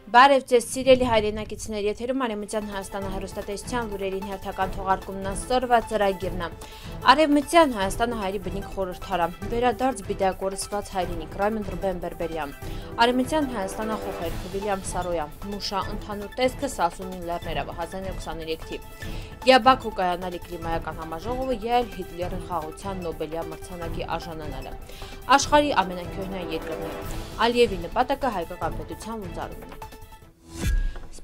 Բարև ձեզ սիրելի հայրենակիցներ, եթերում Արևմտյան Հայաստանը հեռուստատեսության լուրերին հերթական թողարկումն ասորվա ծրագիրն է։ Արևմտյան Հայաստանը հայերի բնիկ խորհրդարան, վերադարձ բիդայակորսված հայրենիք, Ռայմոն Ռուբեն Բերբերյան, Արևմտյան Հայաստանը խոխերք, Վիլյամ Սարոյան, Մուշա ընդհանուր տեսքը Սասունի լեռներով 1923 թիվ, Յաբաքու կայանալի կլիմայական համաժողովը ել Հիտլերի խաղաղության Նոբելյան մրցանակի արժանանալը, աշխարհի ամենակյունային երկրները, Ալիևի նպատակը հայկական պետության լուծարումն է։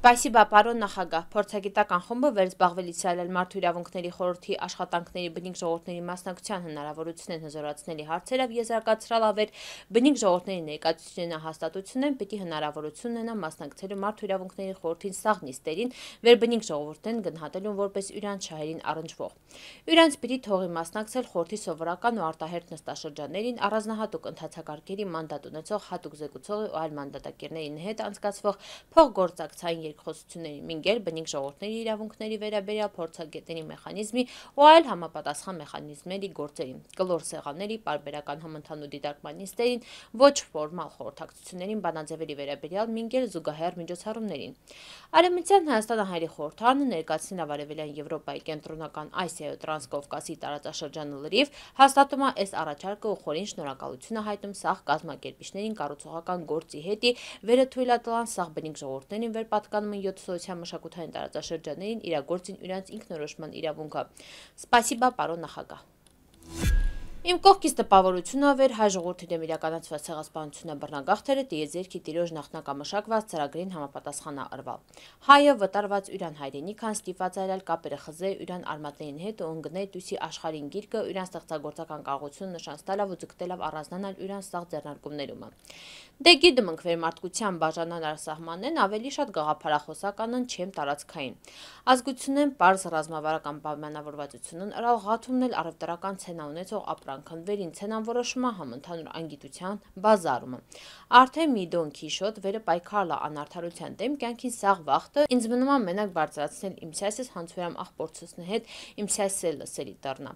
Սպասիբա պարոն նախագահ, փորձագիտական խումբը վերզբաղվելիս այլել մարդու իրավունքների խորհրդի աշխատանքների բնիկ ժողովուրդների մասնակցության հնարավորությունն հզորացնելի հարցերով եզրակացրալ ավեր բնիկ ժողովուրդների ներկայացուցիչներն հաստատությունն պիտի հնարավորություն ունենա մասնակցելու մարդու իրավունքների խորհրդին սաղ նիստերին վերբնիկ ժողովուրդեն գնահատելուն որպես իրանց շահերին առնչվող։ Իրանց պիտի թողի մասնակցել խորհրդի սովորական ու արտահերթ նստաշրջաններին առանձնահատուկ ընթացակարգերի մանդատ ունեցող հատուկ զեկուցողի ու այլ մանդատակերների հետ անցկացվող փոխգործակցային երկխոսությունների մինգել բնիկ ժողովուրդների իրավունքների վերաբերյալ փորձագետների մեխանիզմի ու այլ համապատասխան մեխանիզմների գործերին, կլոր սեղանների, պարբերական համընդհանուր դիտարկման նիստերին, ոչ ֆորմալ խորհրդակցություններին, բանաձևերի վերաբերյալ մինգել զուգահեռ միջոցառումներին։ Արևմտյան Հայաստանը հայերի խորհրդարանը ներկայացնելով Արևելյան Եվրոպայի կենտրոնական Ասիայի Տրանսկովկասի տարածաշրջանը լրիվ հաստատում է այս առաջարկը ու խորին շնորհակալություն է հայտնում սաղ կազմակերպիչներին կառուցողական գործի հետի վերը թույլատալան սաղ բնիկ ժողովուրդներին վերպատկանում 7 սոցիալ մշակութային տարածաշրջաններին իրագործին իրենց ինքնորոշման իրավունքը։ Սպասիբա պարոն նախագահ։ Իմ կողքից տպավորությունը վեր հայ ժողովրդի դեմ իրականացված ցեղասպանությունը բռնագաղթերը տիեզերքի տիրոջ նախնակամշակված ծրագրին համապատասխան արվալ։ Հայը վտարված յուրան հայրենիքան ստիպված այլել կապերը խզե յուրան արմատներին հետ ու ընկնել դուսի աշխարհին գիրկը յուրան ստեղծագործական կարողություն նշանստալավ ու ձգտելով առանձնանալ յուրան սաղ ձեռնարկումներում։ Դե գիտում ենք վերմարտկության բաժանան արսահմանեն ավելի շատ գաղափարախոսականն չեմ տարածքային։ Ազգությունն պարզ ռազմավարական պայմանավորվածությունն ըրալ ղաթումն էլ առևտրական ցենա ունեցող ապրանքն վերին ցենան որոշումա համընդհանուր անգիտության բազարումը։ Արդեն մի դոն քիշոտ վերը պայքարլա անարդարության դեմ կյանքին սաղ վախտը ինձ մնում է մենակ բարձրացնել իմ սյասես հանցուրամ աղբորցուսն հետ իմ սյասել լսելի դառնա։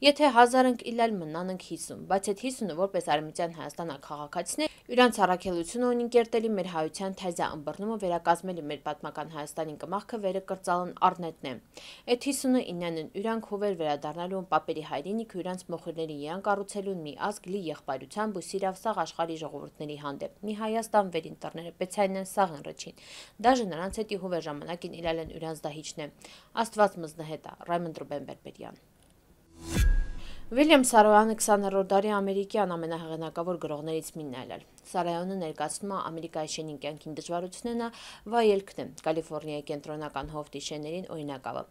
Եթե 1000 ընկ իլալ մնանք 50, բայց այդ 50-ը որպես Արևմտյան Հայաստանը քաղաքացիներ իրանց առաքելությունը ունին կերտելի մեր հայության թազյա ըմբռնումը վերակազմելի մեր պատմական Հայաստանին կմախքը վերը կրծալն առնետն է։ Այդ 59-ն իրանք հովեր վերադառնալու պապերի հայրենիք իրանց մոխիրների իրան կառուցելուն մի ազգ լի եղբայրությամբ ու սիրավ սաղ աշխարհի ժողովուրդների հանդեպ։ Մի Հայաստան վերին տռները պեցայինեն սաղ ընրճին։ Դաժե նրանց հետի հովեր ժամանակին իլալեն իրանց դահիճն է։ Աստված մզնհետա, Ռայմոն Ռուբեն Բերբերյան։ Վիլյամ Սարոյանը 20-րդ դարի ամերիկյան ամենահեղինակավոր գրողներից մինն այլել։ Սարոյանը ներկայացնում է Ամերիկայի շենին կյանքին դժվարությունները վայելքն է Կալիֆոռնիայի կենտրոնական հովտի շեներին օրինակավը։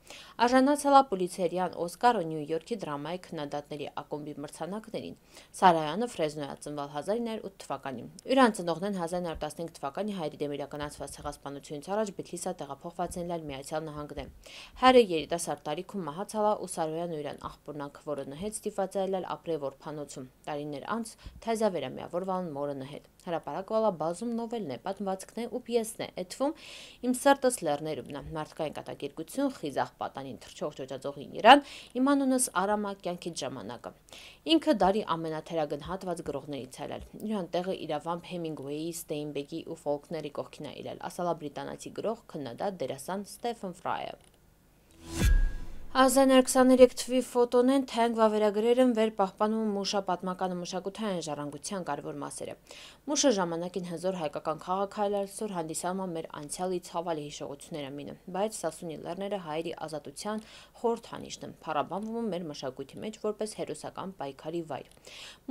Արժանացել է Պուլիցերյան Օսկար ու Նյու Յորքի դրամայի քննադատների ակումբի մրցանակներին։ Սարոյանը Ֆրեզնոյ է ծնվել 1908 թվականին։ Իրան ծնողներն 1915 թվականի հայերի դեմ իրականացված ցեղասպանությունից առաջ Բիթլիսա տեղափոխված են լալ Միացյալ Նահանգներ։ Հայրը երիտասարդ տարիքում մահացավ ու Սարոյանը իրան աղբորնանք որը նհեց ստիպված այլել ապրել որփանոցում։ Տարիներ անց թազավերա միավորվան մորը նհետ։ Հրապարակվալա բազում նովելն է, պատմվածքն է ու պիեսն է, էթվում իմ սրտս լեռներումն է, մարդկային կատակերգություն, խիզախ պատանին թռչող ջոջաձողին իրան, իմ անունս Արամա կյանքից ժամանակը։ Ինքը դարի ամենաթերագնահատված գրողներից այլել։ Իրան տեղը իրավամբ Հեմինգուեյի, Ստեյնբեկի ու Ֆոլքների կողքին է իրել, ասալա բրիտանացի գրող, քննադատ, դերասան Ստեֆեն Ֆրայը։ 1923 թվի ֆոտոնեն թենք վավերագրերն վեր պահպանում Մուշա պատմական ու մշակութային ժառանգության կարևոր մասերը։ Մուշը ժամանակին հզոր հայկական քաղաքայլարսոր հանդիսանում մեր անցյալի ցավալի հիշողությունները մինը, բայց Սասունի լեռները հայերի ազատության խորհրդանիշն են, փառաբանվում մեր մշակույթի մեջ որպես հերոսական պայքարի վայր։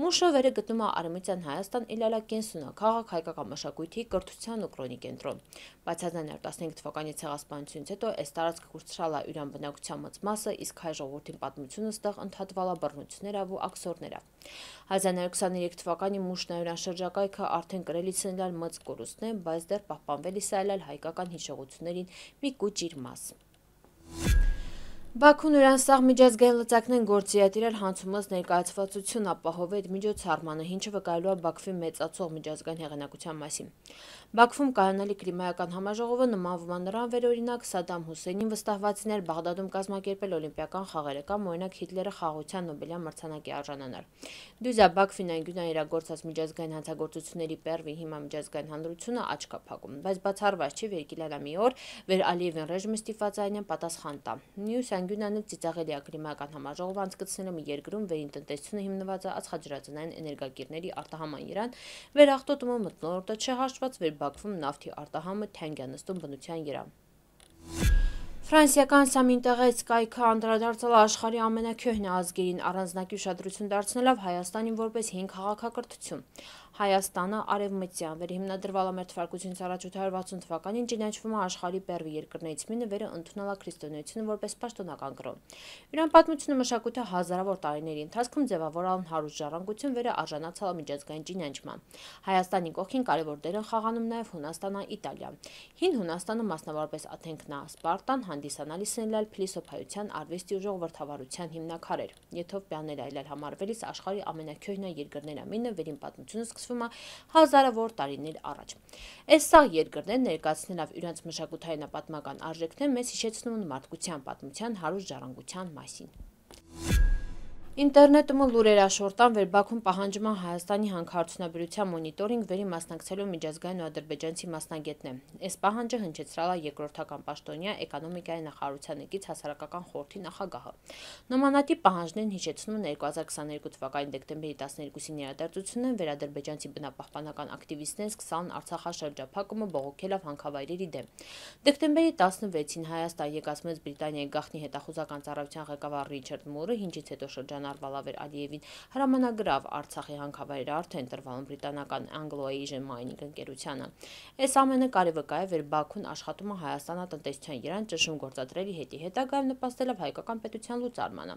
Մուշը վերը գտնում է Արևմտյան Հայաստան իլալա կենսունա քաղաք հայկական մշակույթի կրթության ու կրոնի կենտրոն։ Բայց 1915 թվականի ցեղասպանությունից հետո այս տարածքը կուրցրալ է յուրան բնակության մեծ մասը, իսկ հայ ժողովրդին պատմությունը ստեղ ընդհատվալա բռնություններով ու աքսորներով։ 1923 թվականի Մուշնայուրան շրջակայքը արդեն կրելիս են լալ մեծ կորուստն է, բայց դեռ պահպանվելիս է այլել հայկական հիշողություններին մի կուճիր մաս։ Բաքուն Իրանսաղ միջազգային լծակներն գործի է տիրել հանցումից ներկայացվածություն ապահովել միջոցառմանը, ինչը վկայելու է Բաքվի մեծացող միջազգային հեղինակության մասին։ Բաքվում կայանալի կլիմայական համաժողովը նմանվում է նրան վերօրինակ Սադամ Հուսեյնին վստահվածին էր Բաղդադում կազմակերպել օլիմպիական խաղերը կամ օրինակ Հիտլերը խաղաղության Նոբելյան մրցանակի արժանանալ։ Դույզա Բաքվին այնգյունան իրագործած միջազգային հանցագործությունների պերվի հիմա միջազգային հանրությունը աչք է փակում, բայց բացառված չի վերկիլանա մի օր, վեր Ալիևին ռեժիմը ստիպվածային պատասխան տա։ Մյուս անգյունանը ծիծաղելի է կլիմայական համաժողով անցկացնելը մի երկրում, վերին տնտեսությունը հիմնված է ածխաջրածնային էներգակիրների արտահանման իրան, վերաղտոտումը մթնոլորտը չհաշված, վեր Բաքվում նավթի արտահանումը թանկ է նստում բնության իրան։ Ֆրանսիական Սամինտեղեց կայքը անդրադարձել աշխարհի ամենաքյոհն ազգերին, առանձնակի ուշադրություն դարձնելով Հայաստանին որպես հին քաղաքակրթություն։ Հայաստանը արևմտյան վերհիմնադրվալ ամեր թվարկությունից առաջ 860 թվականին ճանաչվում է աշխարհի պերվի երկրներից մինը, վերը ընդունել է քրիստոնեությունը որպես պաշտոնական կրոն։ Իրան պատմությունը մշակույթը հազարավոր տարիների ընթացքում ձևավորել հարուստ ժառանգություն, վերը արժանացել է միջազգային ճանաչման։ Հայաստանի կողքին կարևոր դեր են խաղանում նաև Հունաստանը, Իտալիան։ Հին Հունաստանը, մասնավորապես Աթենքն, Սպարտան, հանդիսանալիս են ելալ փիլիսոփայության, արվեստի ու ժողովրդավարության հիմնաքարեր։ Եթովպիաներ այլել համարվելիս աշխարհի ամենաքյոհն երկրներ ամինը վերին պատմությունը սկսվում է հազարավոր տարիներ առաջ։ Այս սաղ երկրներն ներկայացնելով իրենց մշակութային պատմական արժեքներ մեզ հիշեցնում են մարդկության պատմության հարուստ ժառանգության մասին։ Ինտերնետում լուրեր աշորտան, վեր Բաքուն պահանջում է Հայաստանի հանքարդյունաբերության մոնիտորինգ վերի մասնակցելու միջազգային ու ադրբեջանցի մասնագետներ։ Այս պահանջը հնչեցրել է երկրորդական պաշտոնյա էկոնոմիկայի նախարարության եկից հասարակական խորհրդի նախագահը։ Նմանատիպ պահանջներն հիշեցնում են 2022 թվականի դեկտեմբերի 12-ի իրադարձությունն, վեր ադրբեջանցի բնապահպանական ակտիվիստներն սկսան Արցախաշրջափակումը բողոքելով հանքավայրերի դեմ։ Դեկտեմբերի 16-ին Հայաստան եկած Մեծ Բրիտանիայի գաղտնի հետախուզական ծառայության ղեկավար Ռիչարդ Մուրը, ինչից հետո շրջանառվել Վեր Ալիևին հրամանագրավ Արցախի հանքավայրերը արդեն տրվալն բրիտանական Anglo-Asian Mining ընկերությանը։ Այս ամենը կարի վկա է, վեր Բաքուն աշխատում է Հայաստանա տնտեսության իրան ճնշում գործադրելի հետագայում նպաստելով հայկական պետության լուծարմանը։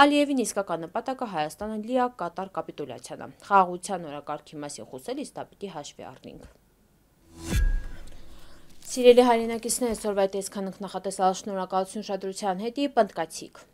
Ալիևին իսկական նպատակը Հայաստանը լիակատար կապիտուլյացիան է։ Խաղաղության օրակարգի մասին խոսելիս դա պիտի հաշվի առնենք։ Սիրելի հայրենակիցներ, այսօրվա տեսքանք նախատեսալ շնորհակալություն ուշադրության հետի պնդկացիք։